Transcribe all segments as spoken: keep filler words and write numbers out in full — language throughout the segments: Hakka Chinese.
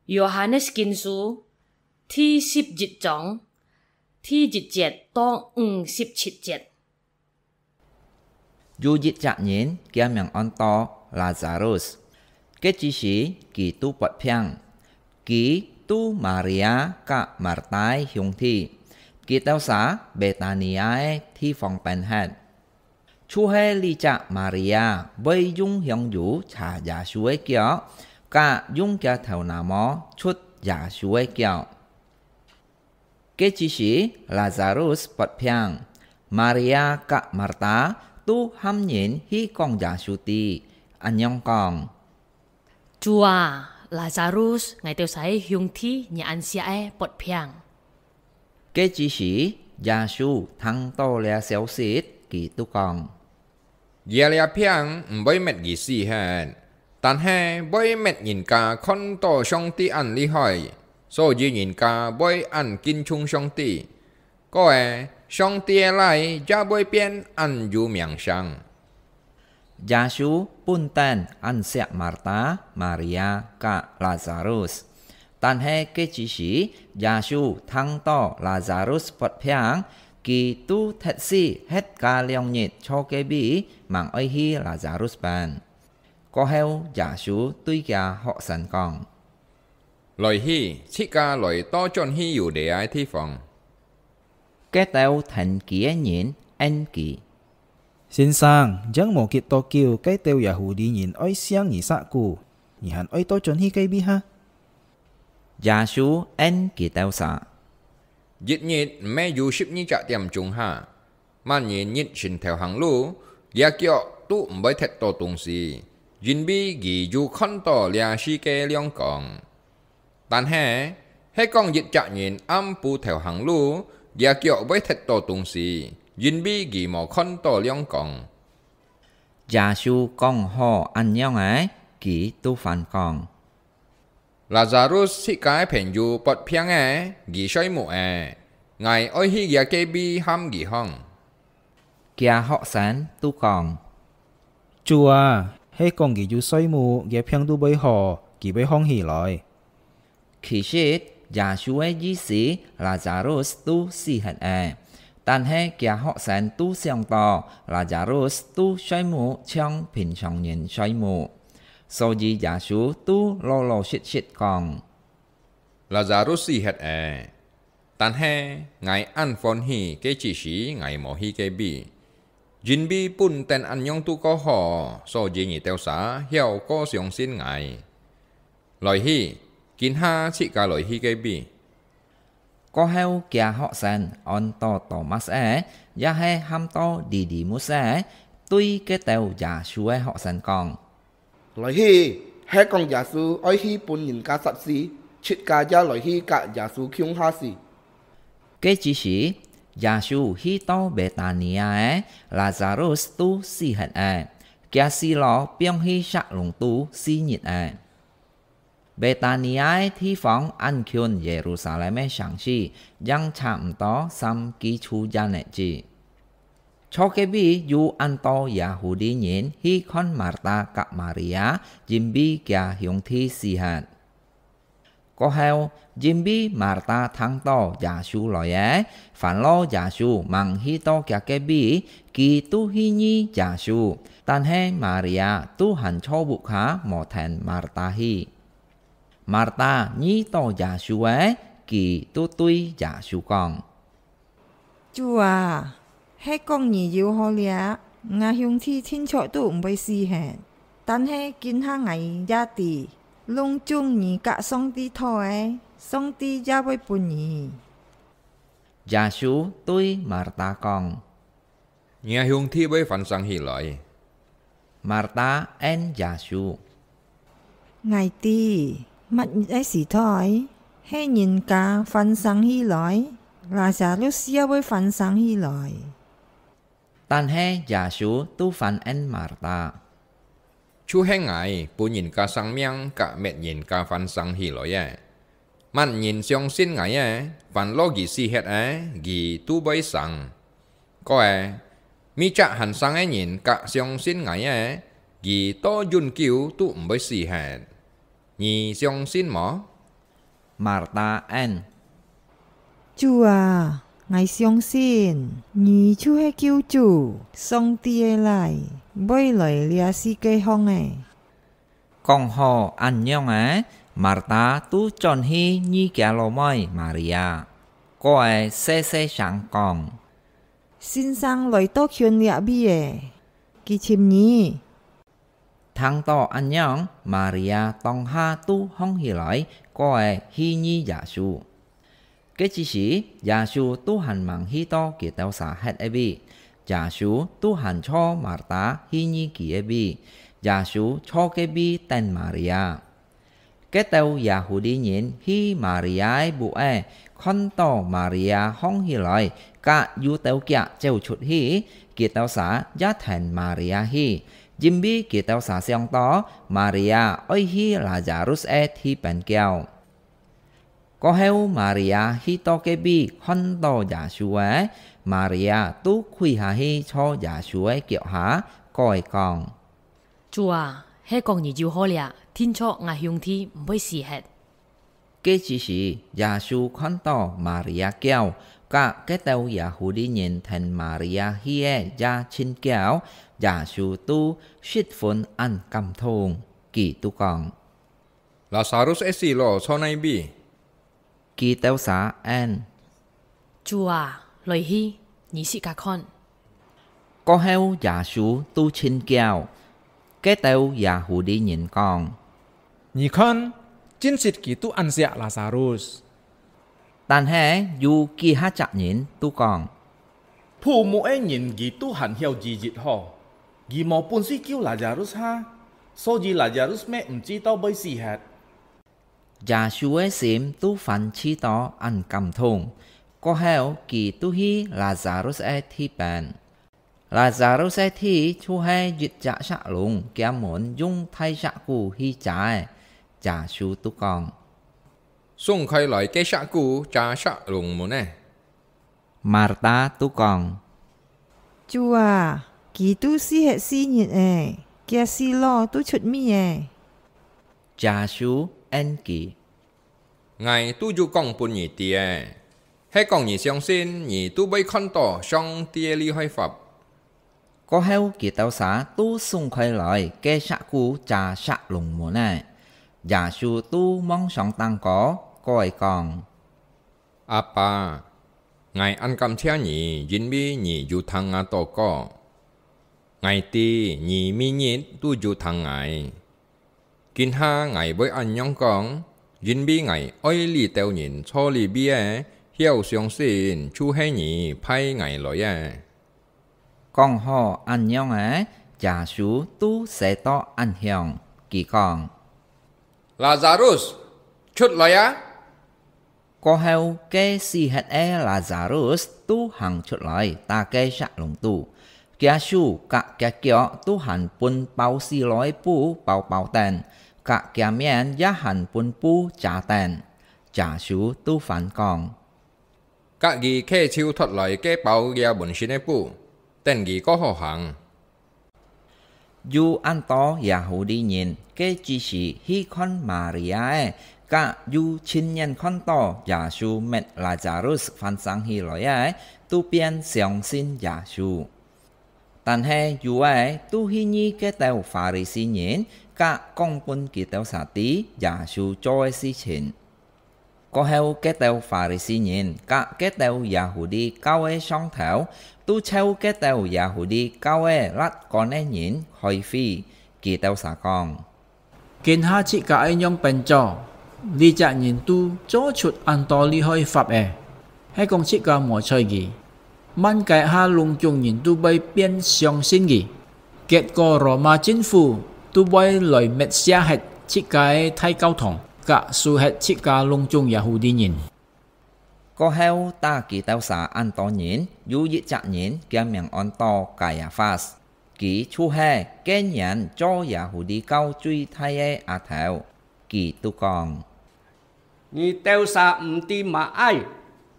Yohanes Kinsu第十一章第一節到五十七節。 有一隻人，厥名安到Lazarus。該之時，佢拄發病。佢拄Maria佮Marta个兄弟，佢兜儕Betania个地方分忒。就係這隻Maria會用香油擦耶穌个腳，佮用厥頭那毛捽耶穌个腳。 該之時，Lazarus發病，Maria佮Marta都喊人去講耶穌知，恁樣講：「主啊，Lazarus，𠊎兜儕兄弟若恁惜个發病。」該之時，耶穌聽到這消息，佢就講： 「這粒病毋會滅佢死忒，但係會滅人家看到上帝恁厲害，所以人家會恁敬重上帝。過仔，上帝个倈也會變恁有名聲。」耶穌本等恁惜Marta、Maria佮Lazarus，但係該之時，耶穌聽到Lazarus發病，佢就忒死歇加兩日坐該位，吂愛去Lazarus分。 過後，耶穌對厥學生講：「來去，自家來倒轉去Yudea个地方。」該兜跈佢个人應佢：「先生，正無幾多久，該兜Yahudi人愛惜你殺骨，你還愛倒轉去該位哈？」耶穌應佢兜儕：「一日毋係有十二隻點鐘哈？ 麼人日晨頭行路，厥腳都毋會踢到東西，因為佢有看到這世界亮光。但係，係講一隻人暗晡頭行路，厥腳會踢到東西，因為佢無看到亮光。」耶穌講好恁樣仔，佢就還講： 「Lazarus自家个朋友發病仔，佢睡目仔，𠊎愛去厥隔壁喊佢䟘。」厥學生就講：「主啊，係講佢有睡目，厥病就會好，佢會䟘起來。」其實，耶穌个意思，Lazarus都死忒仔， 但係厥學生都想到Lazarus都睡目像平常人睡目，所以耶穌都老老實實講：「Lazarus死忒仔，但係𠊎恁歡喜，該之時𠊎無去該位，因為本等恁樣都過好，所以你兜儕曉過相信𠊎。來去，今下自家來去該位。」 過後，厥學生安到Thomas仔，也係喊到Didymus仔，對該兜耶穌个學生講：「來去，係講耶穌愛去分人家殺死，自家也來去佮耶穌共下死。」該之時，耶穌去到Betania仔，Lazarus都死忒仔，厥死佬放去石籠肚四日仔。 Betania个地方恁近耶路撒冷个城市，正差毋多三幾處遠仔止。坐該位有恁多Yahudi人去看Marta佮Maria，因為厥兄弟死忒。過後，因為Marta聽到耶穌來仔，煩惱耶穌吂去到厥隔壁，佢就去遇耶穌，但係Maria就還坐屋下無跈Marta去。 Marta遇到耶穌仔，佢就對耶穌講：「主啊，係講你有好了，吾兄弟定著都毋會死忒。但係今下𠊎也知，攏總你佮上帝討个，上帝也會分你。」耶穌對Marta講： 「若兄弟會翻生起來。」Marta應耶穌：「𠊎知，麼日个時代，係人家翻生起來，Lazarus也會翻生起來。」但係耶穌就還應Marta： 「就係𠊎分人家生命佮滅人家翻生起來个。麼人相信𠊎个，煩惱佢死忒仔，佢都會生。過仔，每隻還生个人佮相信𠊎个，佢到永久都毋會死忒。你相信無？」Marta en：「主啊，𠊎相信你就係救主，上帝个倈，會來這世界項个。」講好恁樣仔，Marta就轉去遇厥老妹Maria，過仔細細聲講：「先生來到近這位仔，佢尋你。」聽到恁樣，Maria當下就䟘起來，過仔去遇耶穌。該之時，耶穌就還吂去到佢兜儕歇个位，耶穌就還坐Marta去遇佢个位，耶穌坐該位等Maria。該兜Yahudi人去Maria个屋仔，看到Maria䟘起來，佮有兜腳走出去，佢兜儕也跈Maria去，因為佢兜儕想到Maria愛去Lazarus个地方噭。過後，Maria去到該位看到耶穌仔，Maria就跪下去坐耶穌个腳下，過仔講：「主啊，係講你有好咧，定著吾兄弟毋會死忒。」該之時，耶穌看到Maria噭，佮該兜Yahudi人跈Maria去个也盡噭，耶穌就十分恁感動，佢就講：「Lazarus个死佬坐哪位？」佢兜儕應：「主啊，來去，你自家看。」過後耶穌就盡噭，該兜Yahudi人講：「你看，真實佢就恁惜Lazarus。」但係有幾下隻人就講：「破屋个人佢就還曉醫治好，佢無本事救Lazarus哈，所以Lazarus乜毋知道會死忒。」耶穌个心就歡喜到恁感動，過後佢就去Lazarus个地方。Lazarus个地就係一隻石籠，厥門用大石牯去遮个。耶穌就講：「鬆開來該石牯遮石籠門仔。」Marta就講：「主啊，佢就死忒四日咧，厥死佬就出味咧。」耶穌應佢：「𠊎就有講分你知咧，係講你相信，你就會看到上帝个厲害法。」過後佢兜儕就鬆開來該石牯遮石籠門仔。耶穌就望上頂高，過仔講：「阿爸，𠊎恁感謝你，因為你有聽吾禱告。𠊎知你每日都有聽𠊎。今下𠊎會恁樣講，因為𠊎愛這兜人坐這位仔，曉相信就係你派𠊎來个。」講好恁樣仔，耶穌就踅到恁向，佢講：「Lazarus，出來啊！」過後，該死忒个Lazarus就行出來，打該石籠肚，厥手佮厥腳就還分包死落个布包包等，佮厥面也還分布遮等。耶穌就還講：「 佮佢摎手脫來，該包這滿身个布，等佢過好行。」有恁多Yahudi人，該之時去看Maria个，佮有親眼看到耶穌搣Lazarus翻生起來个，都變相信耶穌。 但係有个都去遇該兜Pha-ri-si人，佮講分佢兜儕知耶穌做个事情。過後，該兜Pha-ri-si人佮該兜Yahudi教个上頭，都召該兜Yahudi教个lát官个人開會，佢兜儕講： 今下自家愛仰般做？這隻人都做出恁多厲害法仔，係講自家無睬佢，滿街下攏總人都會變相信佢。結果羅馬政府都會來滅殺忒自家个大教堂，佮收忒自家攏總Yahudi人。 過後打佢兜儕恁多人，有一隻人，厥名安到Kayafas，佢就係該年做Yahudi教最大个阿頭。佢就講：「你兜儕毋知麼个，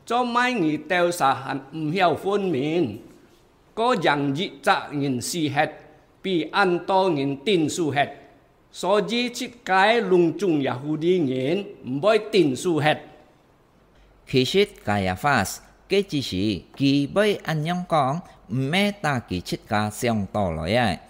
做麼个你兜儕還毋曉分明？過贏一隻人死忒，比恁多人頂受忒。」所以自家个攏總Yahudi人毋會頂受忒。其實Kaiafas个子時，佢會恁樣講，毋係打佢自家想到來个。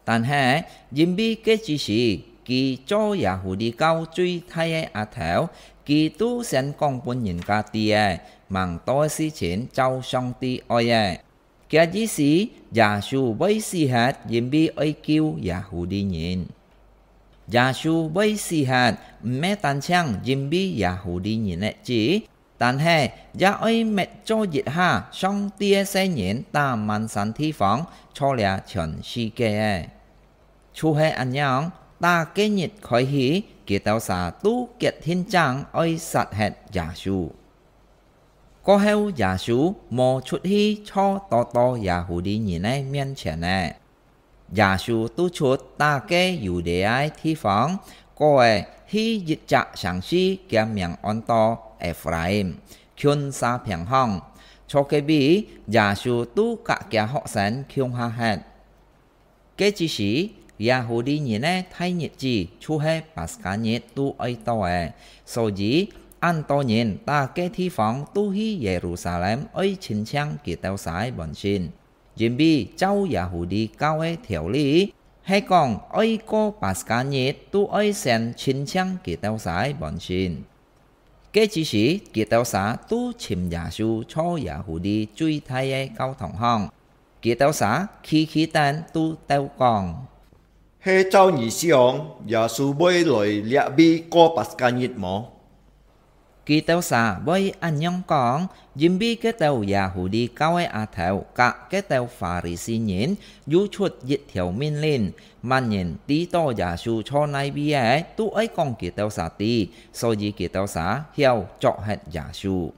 但係，因為个子時，佢做Yahudi教最大个阿頭，佢都先講分人家知个，吂多个事情照上帝愛个。 佢意思，耶穌會死忒，因為愛救Yahudi人。耶穌會死忒，毋係單淨因為Yahudi人个子，但係也愛搣做一下上帝个細人打滿山地方，做這全世界个。就係恁樣，打該日開始，佢兜儕都決定正愛殺忒耶穌。 過後耶穌無出去坐到到Yahudi人个面前呢。耶穌都出打該Yudea个地方，過仔去一隻城市，厥名安到Efraim，近沙坪項。坐該位，耶穌都佮厥學生共下歇。 該之時，Yahudi人个大日子就係Paskha日都愛到了，所以恁多人打該地方都去Yerusalem愛親像佢兜儕个本身，因為照Yahudi教个條例，係講愛過Paskha日都愛先親像佢兜儕个本身。 該之時，佢兜儕都尋耶穌坐Yahudi最大个教堂項。佢兜儕企企等都鬥講：「係照你想，耶穌會來這位過Paskha日無？」佢兜儕會恁樣講，因為該兜Yahudi教个阿頭佮該兜Farisi人有出一條命令， 麼人知到耶穌坐哪位个，都愛講佢兜儕知，所以佢兜儕曉捉核耶穌。